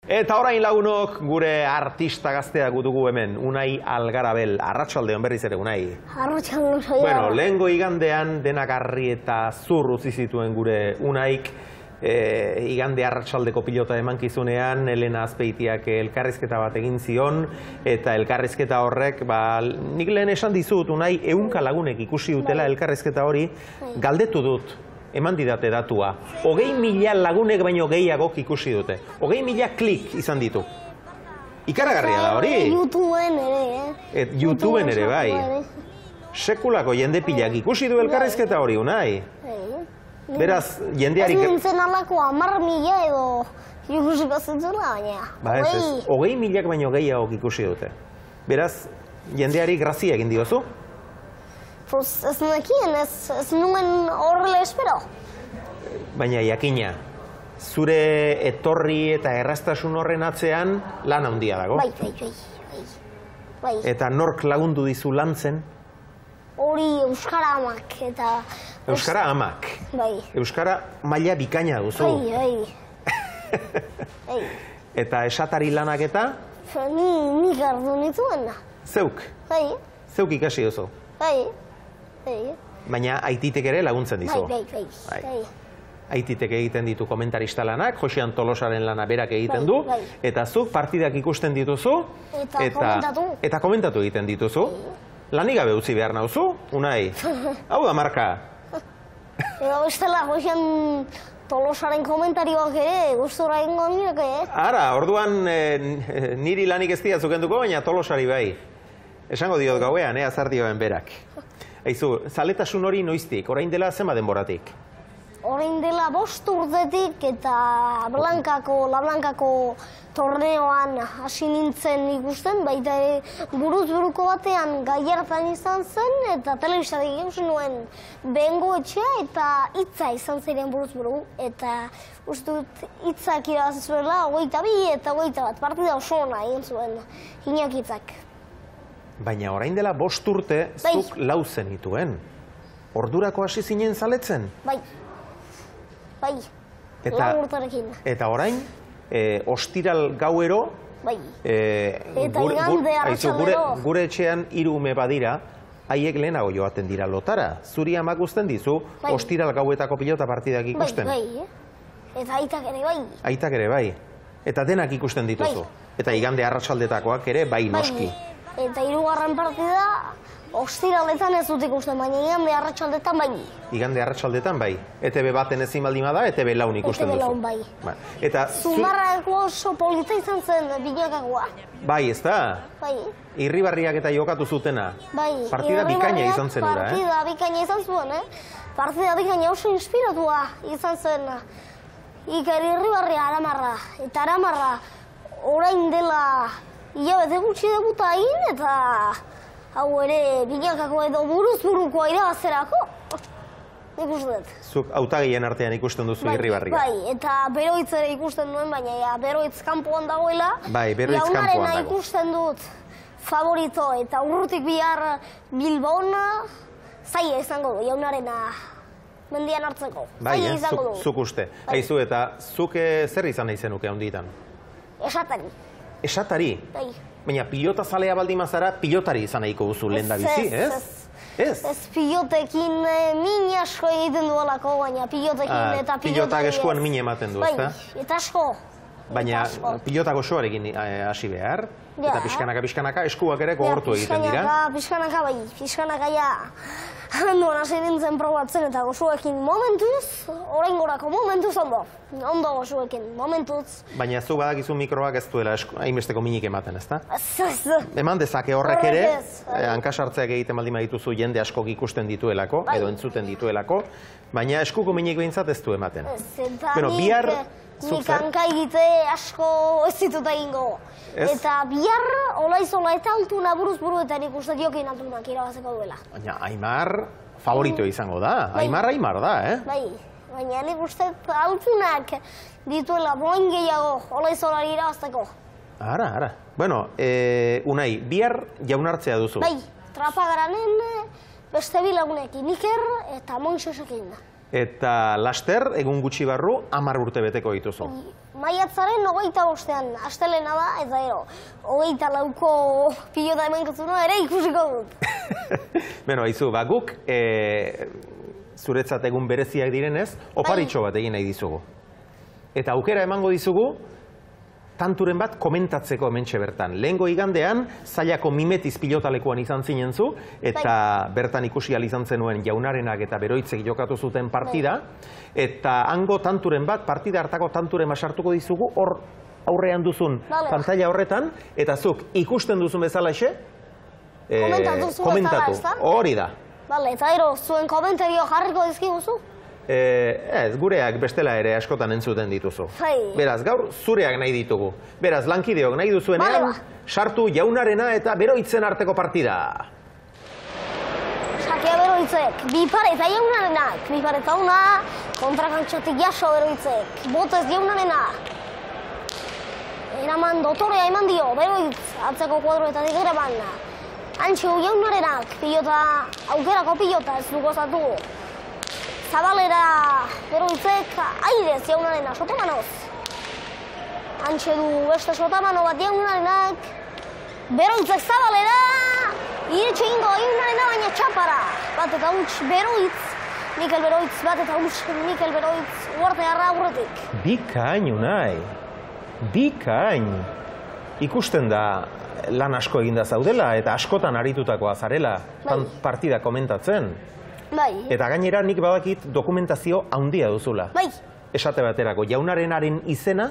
Eta orain lagunok gure artista gaztea dugu hemen, Unai Algarabel. Arratsaldeon berriz ere, Unai. Arratsaldeon saia. Bueno, lehengo igandean denagarri eta zur utzi zituen gure Unaik. Igande arratsaldeko pilota emankizunean, Elena Azpeitiak elkarrizketa bat egin zion, eta elkarrizketa horrek, nik lehen esan dizut, Unai, 100 lagunek ikusi dutela elkarrizketa hori, galdetu dut. Eman didate datua. 20.000 lagunek baino gehiagok ikusi dute. 20.000 klik izan ditu. Ikaragarria da hori. YouTubeen ere, YouTubeen ere, bai. Sekulako jende pilak ikusi du elkarrizketa hori, Unai. Beraz, jendeari... Ez nintzen alako 10.000 edo ikusiko zentzula, baina. Ba ez, 20.000 baino gehiagok ikusi dute. Beraz, jendeari grazia egin diozu? Ez nekien, ez nuen horrela espero. Baina jakina, zure etorri eta erraztasun horren atzean lan handia dago. Bai. Eta nork lagundu dizu lantzen? Hori Euskara Amak eta... Euskara Amak? Bai. Euskara maila bikaina duzu? Bai. Eta esatari lanak eta? Nik hartu nituen. Zeuk? Bai. Zeuk ikasi duzu? Bai. Baina aititek ere laguntzen dizu? Bai. Aititek egiten ditu komentarista lanak, Josean Tolosaren lana berak egiten du, eta zuk partidak ikusten dituzu, eta komentatu egiten dituzu. Lanik gabe utzi behar nauzu, Unai? Hau da marka. Ega bestela, Josean Tolosaren komentarioak ere, gustora egingo nireke, Ara, orduan niri lanik ez diatzuk enduko, baina Tolosari bai. Esango diot gauean, azardioen berak. Aizu, zaletasun hori noiztik, orain dela zema denboratik? Orain dela 5 urtetik eta La Blankako torneoan hasi nintzen ikusten, baita buruz-buruko batean Gallartan izan zen, eta telebistatik ikusi nuen Bengo Etxea eta Hitza izan ziren buruz-buru, eta uste dut Hitzak irabazi zuela 22 eta 21 partida oso ona egin zuen Iñaki Hitzak. Baina orain dela 5 urte zuk lau zenituen. Ordurako hasi zinen zaletzen? Bai. Lau urtarekin. Eta orain, ostiral gauero, eta igande arratsaldero. Gure etxean 3 ume badira, haiek lehenago joaten dira lotara. Zuri amak uzten dizu, ostiral gauetako pilota partidak ikusten. Bai. Eta aitak ere bai. Aitak ere bai. Eta denak ikusten dituzu. Eta igande arratsaldetakoak ere bai noski. Eta 3. partida, ostiraletan ez dut ikusten, baina igande arratsaldetan bai. Igande arratsaldetan bai. ETB baten ezin baldin bada, ETB laun ikusten duzu. ETB laun bai. Eta Zumarrako oso polita izan zen Binakakoa. Bai, ez da? Bai. Irribarriak eta jokatu zutena. Bai. Partida bikaina izan zen ura, Partida bikaina izan zuen, Partida bikaina oso inspiratua izan zen. Iker Irribarria Aramarra. Eta Aramarra orain dela hilabete gutxi debuta egin, eta hau ere Binakako edo buruz-burukoa irabazterako. Nik uste dut. Zuk hautagien artean ikusten duzu Irribarria. Bai, eta Beroitz ere ikusten duen, baina Beroitz kanpoan dagoela. Bai, Beroitz kanpoan dago. Jaunarena ikusten dut favorito, eta urrutik bihar Bilbon zaila izango du, Jaunarena mendian hartzeko. Bai, zuk uste. Aizu, eta zuk zer izan nahi zenuke handitan? Esatari. Esatari? Bai. Baina pilota zalea baldin mazara, pilotari izan nahiko duzu lehen da bizi, ez? Ez pilotekin min asko egiten duelako, baina pilotekin eta pilotak eskuan min ematen du, ezta? Bai, eta asko. Baina pilotak osoarekin hasi behar, eta pixkanaka eskuak ere gogortu egiten dira. Pixkanaka bai, pixkanaka ja handoan hasi nintzen probatzen eta gozuekin momentuz, orain gorako momentuz ondo gozuekin, momentuz. Baina zu badakizu mikroak ez duela hainbesteko minik ematen, ezta? Ez. Eman dezake horrek ere, hankasartzeak egiten baldin badituzu jende askok ikusten dituelako, edo entzuten dituelako, baina eskuko minik behintzat ez du ematen. Nik hanka egite asko ez ditut egingo. Eta bihar, olaizola eta altuna buruz-buru eta nik uste diokin altunak irabazeko duela. Baina Aimar favorito izango da. Aimar da, Bai, baina nik uste altunak dituela boin gehiago olaizolari irabazteko. Ara. Bueno, Unai, bihar jaunartzea duzu. Bai, Trapagaranen beste bilagunekin, Iker eta Moixosekin. Eta laster, egun gutxi barru, 10 urte beteko dituzu. Maiatzaren 25ean, astelena da, eta gero, 24ko pilota emankizunoa ere ikusiko dut. Beno, haizu, guk zuretzat egun bereziak direnez, oparitxo bat egin nahi dizugu. Eta aukera emango dizugu, tanturen bat komentatzeko hementxe bertan. Lehengo igandean, Zailako Mimetiz pilotalekuan izan zinen zu, eta bertan ikusi ahal izan zenuen Jaunarenak eta Beroitzek jokatu zuten partida, eta hango tanturen bat, partida hartako tanturen sartuko dizugu, hor aurrean duzun pantalla horretan, eta zuk ikusten duzun bezalaxe, komentatu, hori da. Bale, eta ero, zuen komentario jarriko dizkiguzu? Ez, gureak bestela ere askotan entzuten dituzu. Beraz, gaur zureak nahi ditugu. Beraz, lankideok nahi duzuenean, sartu Jaunarena eta Beroitzen arteko partida. Sakea Beroitzek, Bipare eta Jaunarenak. Bipare eta una, kontrakantxotik jaso Beroitzek. Botez Jaunarena. Eraman dotorea eman dio, Beroitz, atzeko kuadroetatik eraman. Antxo Jaunarenak, pilota, aukerako pilota ez dugu zatu. Zabalera Beroitzek airez Jaunarena, sotamanoz. Antxe du beste sotamano bat Jaunarenak. Beroitzek zabalera, iretxe ingo Jaunarena baina txapara. Bat eta huts Beroitz, Mikel Beroitz, bat eta huts Mikel Beroitz, uartearra aurretik. Bikain, Unai. Bikain. Ikusten da lan asko eginda zaudela eta askotan aritutakoa zarela partida komentatzen. Eta gainera nik badakit dokumentazio handia duzula. Esate baterako, Jaunarenaren izena?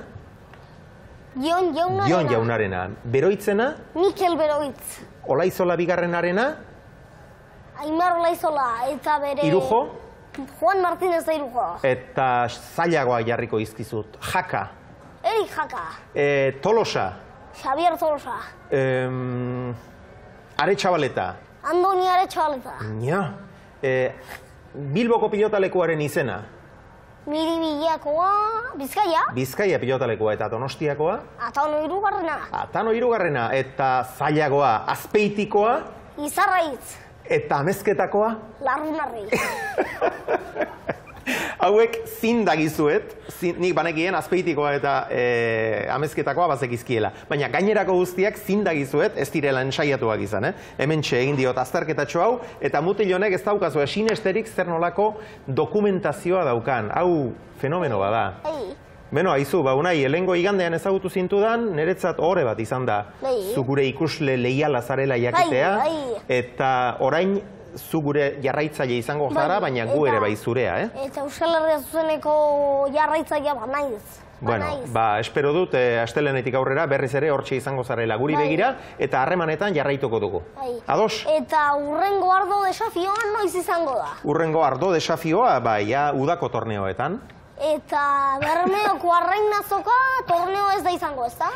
Jon Jaunarena. Jon Jaunarena. Beroitzena? Mikel Beroitz. Olaizola bigarrenarena? Aimar Olaizola eta bere... Irujo? Juan Martínez da Irujo. Eta zailagoa jarriko izkizut. Jaka? Erik Jaka. Tolosa? Xavier Tolosa. Aretxabaleta? Andoni Aretxabaleta. Ja. Bilboko pilotalekuaren izena? Miribillakoa, Bizkaia. Bizkaia pilotalekua eta Donostiakoa? Atano Hirugarrena. Atano Hirugarrena eta zailagoa Azpeitikoa? Izarraitz. Eta Amezketakoa? Larrunarri. Hauek zindagizuet, nik banekien Azpeitikoa eta Amezketakoa bazekizkiela. Baina gainerako guztiak zindagizuet ez direla ensaiatuak izan. Hementxe egin diot azterketatxo hau, eta mutil honek ez daukazu sinesterik zer nolako dokumentazioa daukan. Hau fenomeno bada. Beno, haizu, Unai, helengo igandean ezagutu zintudan, niretzat ohore bat izan da. Zu gure ikusle leiala zarela jakitea, eta orain zu gure jarraitzaile izango zara, baina gu ere bai zurea, Eta Euskal Herria Zuzeneko jarraitzailea banaiz. Bueno, espero dut, astelenetik aurrera berriz ere hortxe izango zarela guri begira, eta harremanetan jarraituko dugu. Ados? Eta urrengo ardo desafioa noiz izango da? Urrengo ardo desafioa, udako torneoetan. Eta Bermeoko Arrainazoka torneo ez da izango, ez da?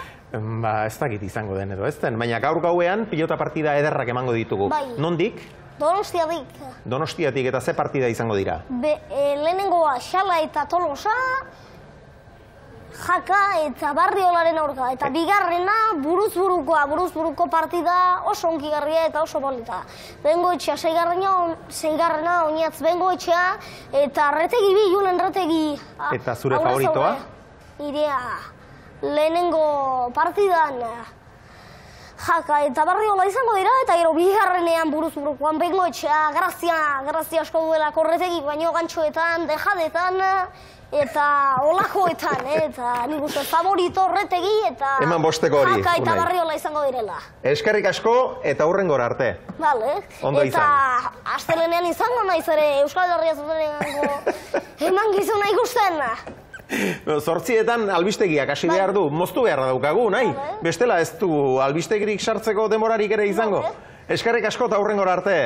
Ez dakit izango den edo, ez den. Baina gaur gauean pilota partida ederrak emango ditugu. Nondik? Donostiatik. Donostiatik, eta ze partida izango dira? Lehenengoa Xala eta Tolosa, Jaka eta Barriolaren aurka. Eta bigarrena buruz-buruko partida oso onkigarria eta oso polita. Bengoetxea seigarrena, Oñatz Bengoetxea, eta Retegi bi, Julen Retegi. Eta zure favoritoa? Irea, lehenengo partidan Jaka eta Barriola izango dira, eta gero bigarrenean buruz-burukoan Bengoetxea, grazia asko duela Korretegi, baino gantxoetan, dejadetan, eta olakoetan, eta nik uste favorito Retegi eta Jaka eta Barriola izango direla. Eskerrik asko eta hurrengora arte. Bale, eta astelenean izango naiz ere Euskal Herria Zuzeneko eman gizuna ikusten. Zortzietan albistegiak hasi behar du, moztu beharra daukagu, nahi? Bestela ez du albistegirik sartzeko demorarik ere izango. Eskerrik asko eta hurrengora arte.